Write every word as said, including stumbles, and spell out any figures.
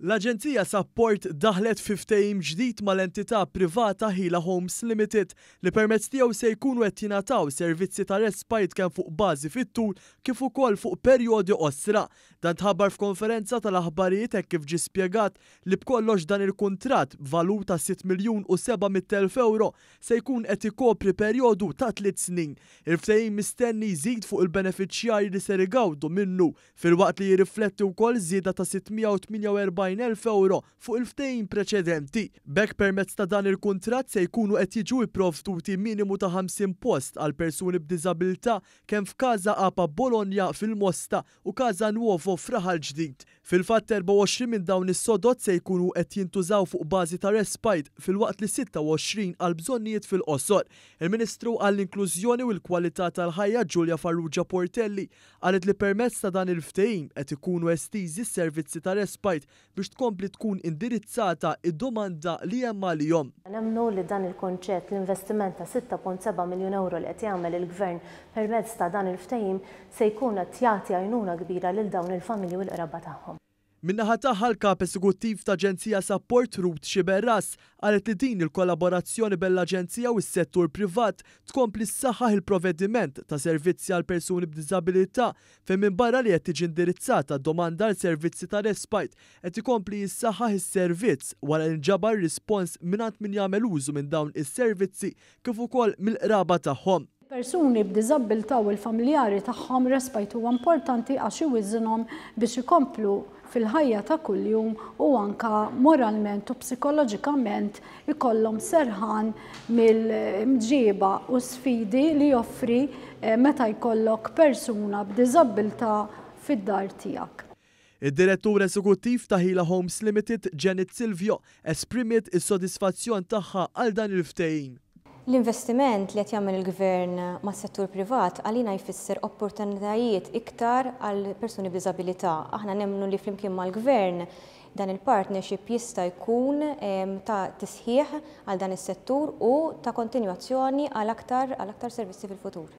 L-Aġenzija Sapport daħlet fi ftehim ġdid mal-entità privata Hila Homes Limited li permezz tiegħu se jkunu qed jingħataw servizzi ta' respite kemm fuq bażi fit-tul kif ukoll fuq perjodi qosra. Dan tħabbar f'konferenza tal-aħbarijiet hekk kif ġie spjegat li b'kollox dan il-kuntratt b'valur ta' sitt miljun u seba' mitt elf ewro se jkun qed ikopri perjodu ta' tliet snin. Il-ftehim mistenni jżid fuq il-benefiċjarji li ser igawdu minnu filwaqt li jirrifletti wkoll żieda ta' sitt mija u tmienja u erbgħin elf ewro fuq il-ftehim preċedenti. B'hekk permezz ta' dan il-kuntratt se jkunu qed jiġu ipprovduti minimu ta' ħamsin post għal persuni b'diżabilità kemm f'Każa Apa Bologna fil-Mosta u Casa Nuovo f'Raħal Ġdid. Fil-fatt erbgħa u għoxrin minn dawn is-sodod se jkunu qed jintużaw fuq bażi ta' respite filwaqt li sitta u għoxrin għal bżonnijiet fil-qosor. Il-Ministru għall-Inklużjoni u l-Kwalità tal-Ħajja Julia Farrugia Portelli qalet li permezz ta' dan il-ftehim qed ikunu estiżi s-servizzi ta' respite biex tkompli tkun indirizzata id-domanda li hemm għalihom. Nemmnu li dan il-konċett, l-investiment ta' sitta punt seba' miljun euro li qed jagħmel il-Gvern permezz ta' dan il-ftehim se jkun qed jagħti għajnuna kbira lil dawn il-familji u l-qraba tagħhom. Min-naħa tagħha l-kap eżekuttiv ta' Aġenzija Sapport Ruth Sciberras qalet li din il-kollaborazzjoni bejn l-Aġenzija u s-settur privat tkompli ssaħħaħ il-provvediment ta' servizzi għal persuni b'diżabilità fejn minbarra li qed tiġi indirizzata domanda għal servizzi ta' respite qed ikompli jissaħħaħ is-servizz wara li nġabar rispons mingħand min jagħmel użu minn dawn is-servizzi kif ukoll mill-qraba tagħhom. Persuni b'diżabilità u l-familjari tagħhom respite huwa importanti għax iwiżinhom biex ikomplu fil-ħajja ta' kuljum u anka moralment u psikoloġikament ikollhom serħan mill-mġiba u sfidi li joffri, eh, meta jkollok persuna b'diżabilità fid-dar tiegħek. Id-direttur eżekuttiv ta' Hila Homes Limited, Janet Silvio, esprimiet is-sodisfazzjon tagħha għal dan il-ftehim. L-investiment li qed jagħmel il-gvern mas-settur privat għalina jfisser opportunitajiet iktar għal persuni b'diżabilità. Aħna nemmnu li flimkien mal-gvern dan il-partnership jista' jkun, em, ta' tisħiħ għal dan is-settur u ta' kontinwazzjoni għal aktar, għal aktar servizzi fil-futur.